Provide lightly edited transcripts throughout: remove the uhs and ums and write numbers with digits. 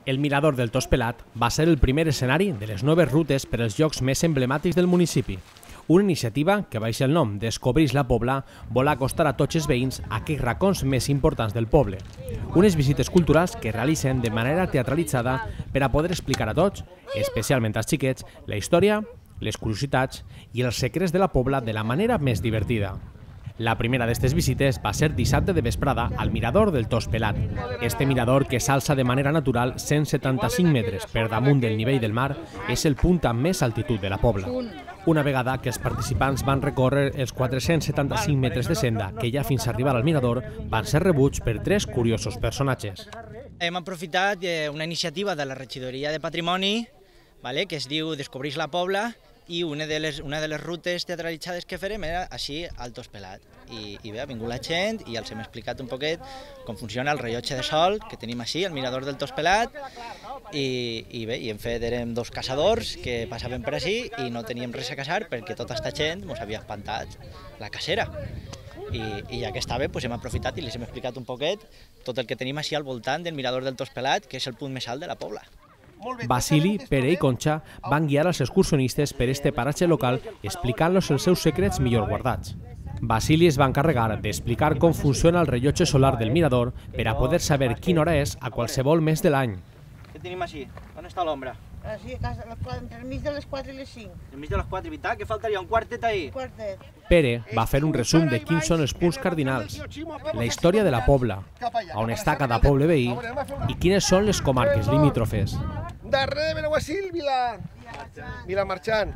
El mirador del Tospelat va ser el primer escenari de les noves rutes per als llocs més emblemàtics del municipi. Una iniciativa que baixa el nom Descobrix la Pobla vol acostar a tots els veïns a aquells racons més importants del poble. Unes visites culturals que realitzen de manera teatralitzada per a poder explicar a tots, especialment als xiquets, la història, les curiositats i els secrets de la Pobla de la manera més divertida. La primera d'aquestes visites va ser dissabte de vesprada al mirador del Tospelat. Este mirador, que s'alça de manera natural 175 metres per damunt del nivell del mar, és el punt amb més altitud de la Pobla. Una vegada que els participants van recórrer els 475 metres de senda que hi ha fins a arribar al mirador, van ser rebuts per tres curiosos personatges. Hem aprofitat una iniciativa de la Regidoria de Patrimoni, que es diu Descobrix la Pobla, i una de les rutes teatralitzades que farem era així al Tospelat. I bé, ha vingut la gent i els hem explicat un poquet com funciona el rellotge de sol que tenim així, al mirador del Tospelat, i bé, érem dos caçadors que passaven per així i no teníem res a caçar perquè tota aquesta gent ens havia espantat la cacera. I ja que estava, hem aprofitat i els hem explicat un poquet tot el que tenim així al voltant del mirador del Tospelat, que és el punt més alt de la Pobla. Basili, Pere i Concha van guiar als excursionistes per este paratge local explicant-los els seus secrets millor guardats. Basili es va encarregar d'explicar com funciona el rellotge solar del mirador per a poder saber quina hora és a qualsevol mes de l'any. Què tenim així? On està l'ombra? Així, entremig de les 4 i les 5. Entremig de les 4 i veritat? Que faltaria un quartet ahir? Quartet. Pere va fer un resum de quins són els punts cardinals, la història de la Pobla, on està cada poble veí i quines són les comarques limítrofes. Darrere de Benaguasil, Vilamarxant.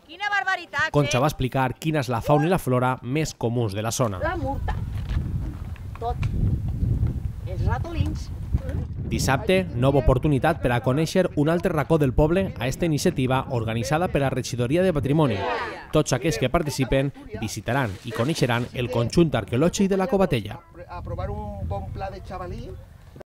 Quina barbaritat! Concha va explicar quina és la fauna i la flora més comuns de la zona. La murta. Tot. Els ratolins. Dissabte, nova oportunitat per a conèixer un altre racó del poble a esta iniciativa organitzada per la Regidoria de Patrimoni. Tots aquells que participen visitaran i coneixeran el conjunt arqueològic de la Covatella. Aprovar un bon pla de xavalí